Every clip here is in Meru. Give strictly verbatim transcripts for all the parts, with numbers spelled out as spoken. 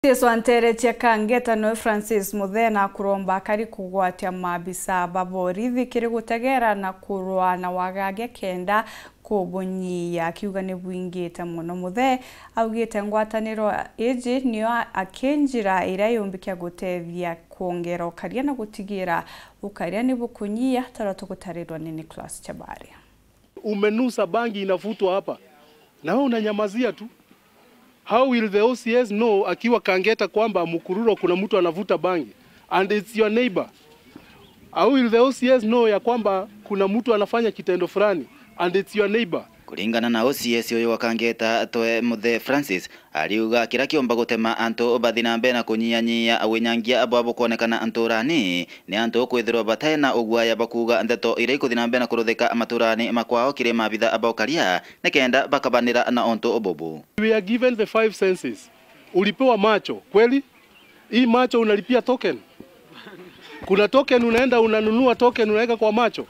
Jesu anteretie Kangeta noe Francis Muthee na kuromba akari kugwatia maabisa ba borithi kiri gutegera na kurwa na wagagia kenda kubunyia, akiuga ni bwingite mono. Muthee augite ngwataniro iji niyo akinjira iria yumbikia gutethia kwongera ukaria na gutigira ukaria ni bukunyia, taria tugutarirwa ni Nicholas Chabari. Umenusa bangi inavutwa hapa. Na wewe unanyamazia tu. How will the O C S know akiwa Kangeta kwamba Mukururo kuna mtu anavuta bangi and it's your neighbor? How will the O C S know ya kwamba kuna mtu anafanya kitendo fulani and it's your neighbor? Kuringana na O C S uyu wa Kangeta, Toe Muthee Francis, ariuga kiria kiumba gutema antu bathi na mbere na kunyiyanyia winyangia bwa bukwonekana nturani ni antu kwithirwa batai na uguaya bakuuga ndeto iria ikuthi na mbere na kuruthika maturani makwao kiri maabitha ba ukaria nikenda bakabanira na untu bubu. We are given the five senses. Ulipewa macho, kweli? Hii macho unalipia token? Kuna token unaenda unanunua token unaweka kwa macho?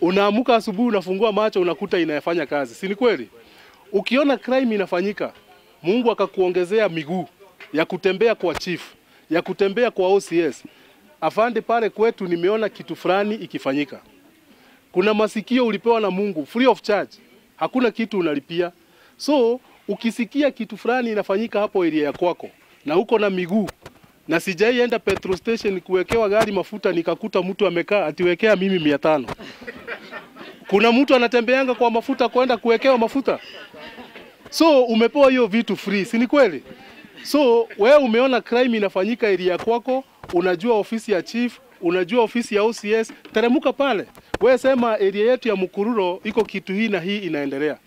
Unaamuka asubuhi unafungua macho unakuta inafanya kazi. Si ni kweli? Ukiona crime inafanyika, Mungu akakuongezea miguu ya kutembea kwa chief, ya kutembea kwa O C S. Afande, pale kwetu nimeona kitu fulani ikifanyika. Kuna masikio ulipewa na Mungu free of charge. Hakuna kitu unalipia. So, ukisikia kitu fulani inafanyika hapo area ya kwako na uko na miguu, na sijai enda petrol station kuwekewa gari mafuta nikakuta mtu amekaa ati wekea mimi mia tano. Kuna mtu anatembeanga kwa mafuta kwenda kuwekewa mafuta? So, umepewa hiyo vitu free, si ni kweli? So, wewe umeona crime inafanyika area ya kwako, unajua ofisi ya chief, unajua ofisi ya O C S, teremuka pale. Wewe sema area yetu ya Mukururo iko kitu hii na hii inaendelea.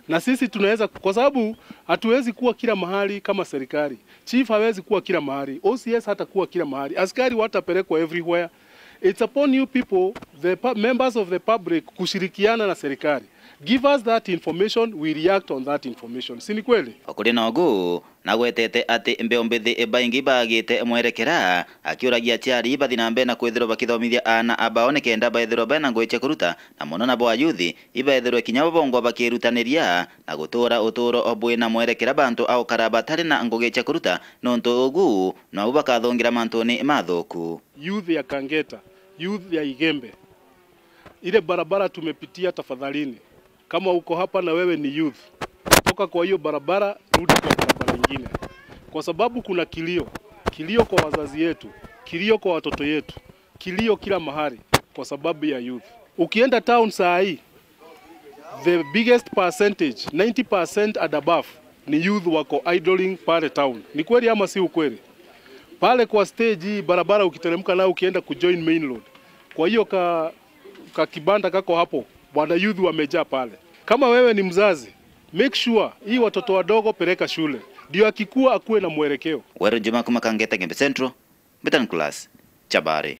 Na sisi tunaweza, kwa sababu hatuwezi kuwa kila mahali kama serikali. Chief hawezi kuwa kila mahali, O C S hatakuwa kila mahali, askari watapelekwa everywhere. It's upon you people, the pu-, members of the public, kushirikiana na serikali. Give us that information, we react on that information. Si ni kweli? Okuri nogu, nagwetete ati mbeu mbithi baingi baagite mwerekera, akiuragia aciari bathi na mbere na kwithirwa bakithomithia aana abao nikenda baithirwa bena ngugi cia kuruta, na mono nabo ayuthi, ibaithirwe kinya bo bongwa bakirutaniria na gutura uturo bwina mwerekera bantu a ukara batari na ngugi cia kuruta, nontu ugu nabo bakathungira mantuni mathuku. Youth ya Kangeta, youth ya Igembe, ile barabara tumepitia, tafadhalini, kama uko hapa na wewe ni youth, toka kwa hiyo barabara, rudi kwa barabara ingine, kwa sababu kuna kilio, kilio kwa wazazi yetu, kilio kwa watoto yetu, kilio kila mahali kwa sababu ya youth. Ukienda town saa hii, the biggest percentage, ninety percent and above, ni youth wako idling pale town. Ni kweli ama si ukweli? Pale kwa stage hii barabara ukiteremka nayo ukienda kujoin main road, kwa hiyo ka, ka kibanda kako hapo, bwana, youth wamejaa pale. Kama wewe ni mzazi, make sure hii watoto wadogo peleka shule, ndio akikua akuwe na mwelekeo. Weru Njuma kuma Kangeta, Gembe Central, Mbitan Class, Chabari.